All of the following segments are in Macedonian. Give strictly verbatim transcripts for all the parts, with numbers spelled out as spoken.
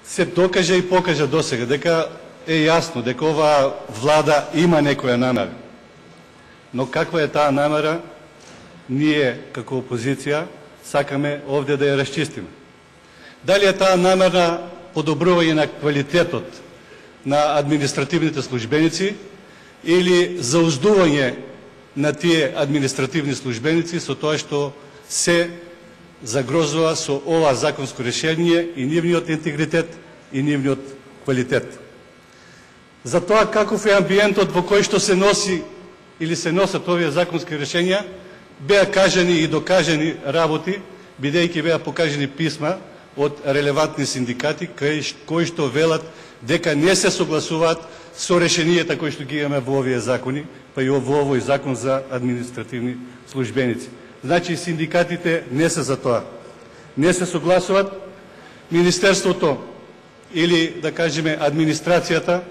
се докажа и покажа досега дека е јасно дека оваа влада има некоја намера. Но каква е таа намера, ние како опозиција сакаме овде да ја расчистиме. Дали е таа намера подобрување на квалитетот на административните службеници или зауздување на тие административни службеници со тоа што се загрозува со ова законско решение и нивниот интегритет и нивниот квалитет. За тоа каков е амбиентот во кој што се носи или се носат овие законски решенија, беа кажани и докажани работи, бидејќи беа покажани писма од релевантни синдикати кои што велат дека не се согласуваат со решенијата кои што ги имаме во овие закони, па и во овој закон за административни службеници. Значи синдикатите не се за тоа. Не се согласуваат. Министерството или да кажеме администрацијата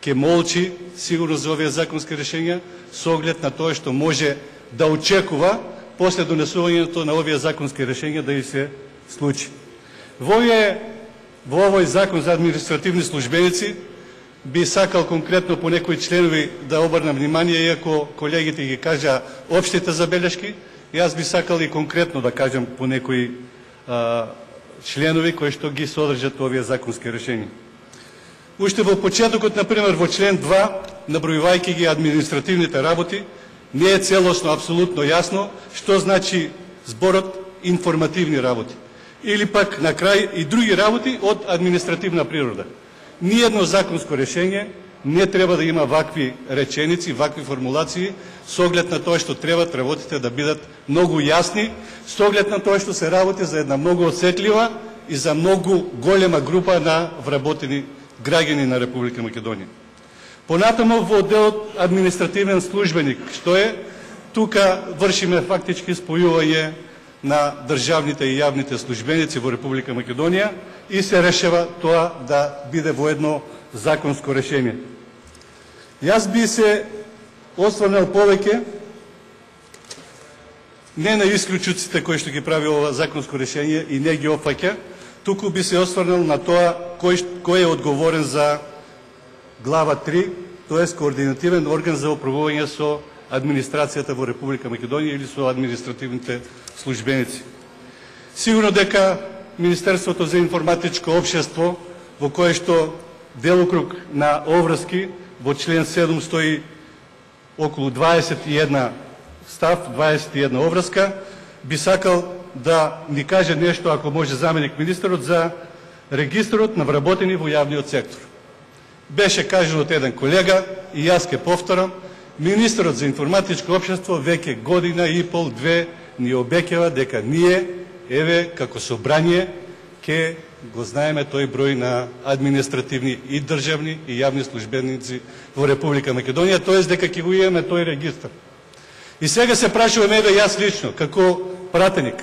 ќе молчи сигурно за овие законски решенија со оглед на тоа што може да очекува после донесувањето на овие законски решенија да и се случи. Во овие во овој закон за административни службеници би сакал конкретно по некои членови да обрнам внимание, иако колегите ги кажа општите забелешки, јас би сакал и конкретно да кажам по некои а, членови кои што ги содржат овие законски решенија. Уште во почетокот, например, во член два, набројувајќи ги административните работи, не е целосно, апсолутно јасно што значи зборот информативни работи. Или пак на крај и други работи од административна природа. Ниедно законско решение не треба да има вакви реченици, вакви формулации, со оглед на тоа што треба работите да бидат многу јасни, со оглед на тоа што се работи за една многу осетлива и за многу голема група на вработени граѓани на Република Македонија. Понатаму во делот административен службеник, што е, тука вршиме фактички спојување на државните и јавните службеници во Република Македонија и се решава тоа да биде во едно законско решение. Јас би се осврнал повеќе не на исклучуците кои што ги прави ова законско решение и не ги опфаќа, туку би се осврнал на тоа кој, кој е одговорен за глава три, тоест координативен орган за управување со администрацијата во Република Македонија или со административните службеници. Сигурно дека Министерството за информатичко општество, во кое што делокруг на обврски во член седум стои околу дваесет и една став, дваесет и една обврска, би сакал да ни каже нешто, ако може, заменик министерот за регистрот на вработени во јавниот сектор. Беше кажано од еден колега и јас ке повторам, министерот за информатичко општество веќе година и пол, две ни обеќава дека ние, еве, како собрание, ке го знаеме тој број на административни и државни и јавни службеници во Република Македонија, тоест дека ќе го имаме тој регистар. И сега се прашувам, еве, јас лично, како пратеник,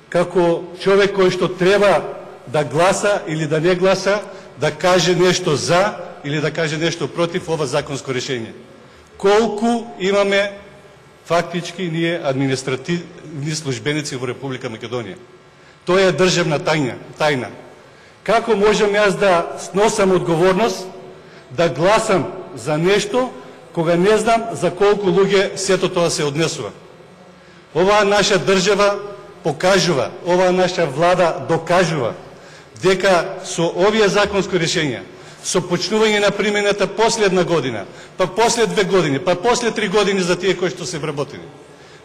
како човек кој што треба да гласа или да не гласа, да каже нешто за или да каже нешто против ова законско решение. Колку имаме фактички ние административни службеници во Република Македонија? Тоа е државна тајна. тајна. Како можам јас да сносам одговорност, да гласам за нешто, кога не знам за колку луѓе сето тоа се однесува? Оваа наша држава покажува, оваа наша влада докажува дека со овие законско решенија, со почнување на примената последна година, па после две години, па после три години за тие кои што се вработени,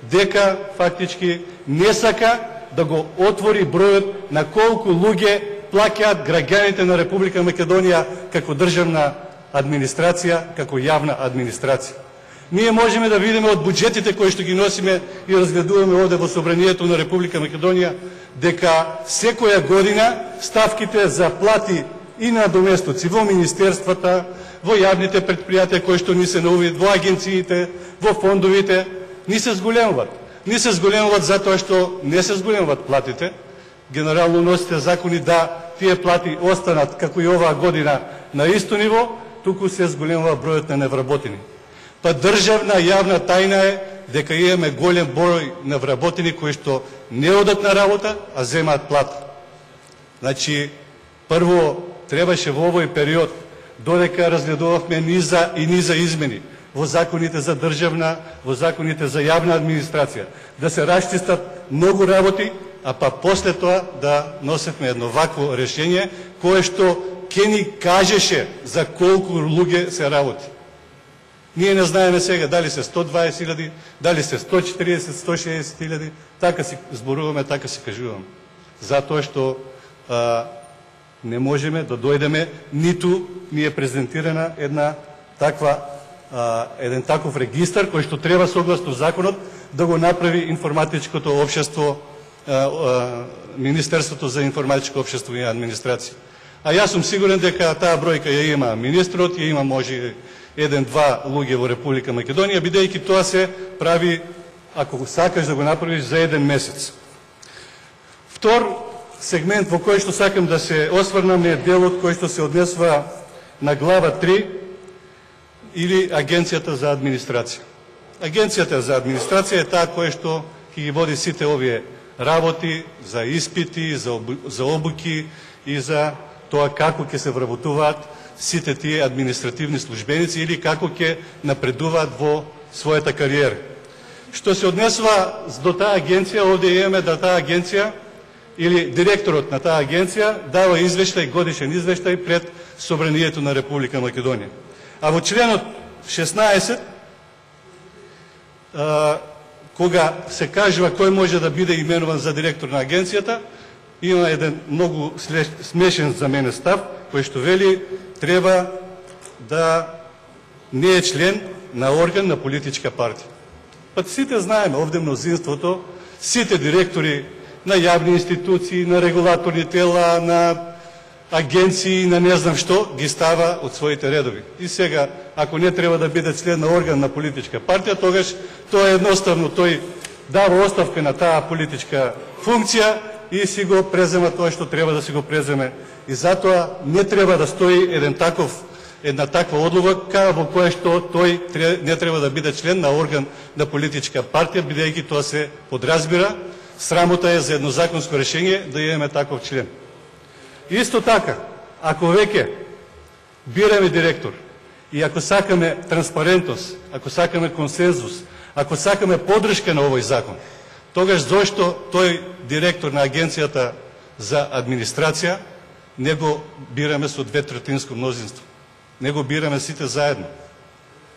дека фактички не сака да го отвори бројот на колку луѓе плаќаат граѓаните на Република Македонија како државна администрација, како јавна администрација. Ние можеме да видиме од буџетите кои што ги носиме и разгледуваме овде во Собранието на Република Македонија, дека секоја година ставките за плати и на доместоци во министерствата, во јавните предпријатија кои што ни се наувид, во агенциите, во фондовите, ни се зголемуваат. Ни се зголемуваат затоа што не се зголемуваат платите. Генерално носите закони да тие плати останат како и оваа година на исто ниво, туку се зголемува бројот на невработени. Па државна јавна тајна е дека имаме голем број на вработени кои што не одат на работа, а земаат плата. Значи, прво требаше во овој период, додека разгледувавме низа и низа измени во законите за државна, во законите за јавна администрација, да се расчистат многу работи, а па после тоа да носевме едно вакво решение, кое што ќе ни кажеше за колку луѓе се работи. Ние не знаеме сега дали се сто дваесет илјади, дали се сто четириесет, сто шеесет илјади, така си зборуваме, така си кажуваме. Затоа што а, не можеме да дојдеме, ниту ни е презентирана една таква, а, еден таков регистар кој што треба согласно законот да го направи информатичкото општество, а, а, Министерството за информатичко општество и администрација. А јас сум сигурен дека таа бројка ја има министрот, ја има може еден-два луѓе во Република Македонија, бидејќи тоа се прави, ако сакаш да го направиш, за еден месец. Втор сегмент во кој што сакам да се осврнам е делот кој што се однесува на глава три или Агенцијата за администрација. Агенцијата за администрација е таа која што ќе ги води сите овие работи за испити, за, за обуки и за тоа како ќе се вработуваат сите тие административни службеници или како ќе напредуваат во својата кариера. Што се однесува до таа агенција, овде имаме да таа агенција или директорот на таа агенција дава извештај, годишен извештај пред Собранието на Република Македонија. А во членот шеснаесет, а, кога се кажува кој може да биде именуван за директор на агенцијата, има еден многу смешен за мене став, кој што вели треба да не е член на орган на политичка партија. Па сите знаеме, овде мнозинството, сите директори на јавни институции, на регулаторни тела, на агенции, на не знам што, ги става од своите редови. И сега, ако не треба да биде член на орган на политичка партија, тогаш тоа едноставно тој дава оставка на таа политичка функција и си го презема тоа што треба да си го преземе. И затоа не треба да стои еден таков, една таква одлука во која што тој не треба да биде член на орган на политичка партија, бидејќи тоа се подразбира. Срамота е за едно законско решение да имаме таков член. Исто така, ако веќе бираме директор и ако сакаме транспарентност, ако сакаме консензус, ако сакаме поддршка на овој закон, тогаш зошто тој директор на Агенцијата за администрација не го бираме со дветретинско мнозинство? Не го бираме сите заедно.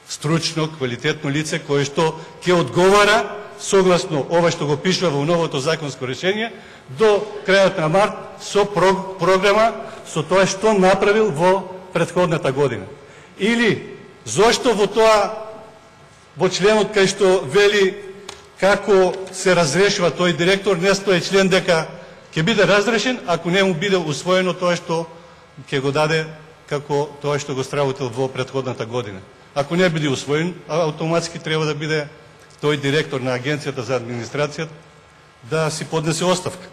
Стручно, квалитетно лице кое што ќе одговара согласно ова што го пишува во новото законско решение до крајот на март со програма со тоа што направил во претходната година. Или зошто во тоа во членот кај што вели како се разрешува тој директор не стои член дека ќе биде разрешен ако не му биде усвоено тоа што ќе го даде како тоа што го сработил во претходната година. Ако не биде усвоен, автоматски треба да биде тој директор на Агенцијата за администрација да си поднесе оставка.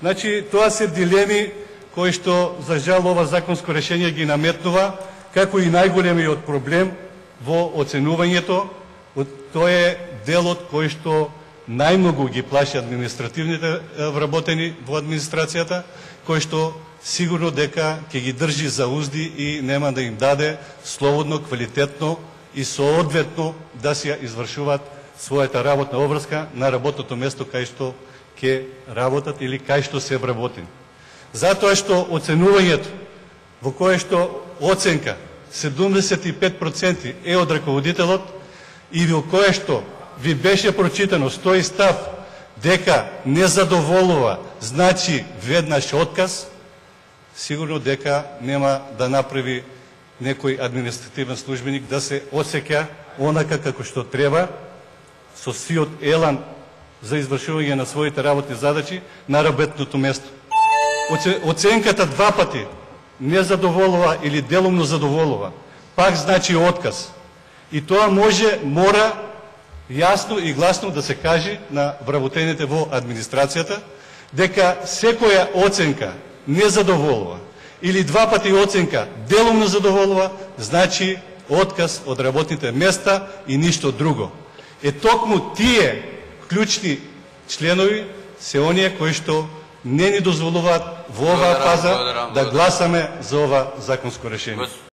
Значи, тоа се дилеми кои што, за жал, ова законско решение ги наметнува, како и најголемиот проблем во оценувањето. Тоа е делот кој што најмногу ги плаши административните вработени во администрацијата, кој што сигурно дека ќе ги држи за узди и нема да им даде слободно, квалитетно и соодветно да си извршуваат својата работна обврска на работното место кај што ќе работат или кај што се вработени. Затоа што оценувањето во кое што оценка седумдесет и пет проценти е од раководителот и во кое што ви беше прочитано стои став дека не задоволува, значи веднаш отказ, сигурно дека нема да направи некој административен службеник да се осеќа онака како што треба, со сиот елан за извршување на своите работни задачи на работното место. Оценката два пати не задоволува или делумно задоволува, пак значи отказ. И тоа може, мора јасно и гласно да се каже на вработените во администрацијата, дека секоја оценка не задоволува или два пати оценка делумно задоволува, значи отказ од работните места и ништо друго. Е токму тие клучни членови се оние кои што не ни дозволуваат во оваа Благодарам, фаза благодарам, да благодарам. гласаме за ова законско решение.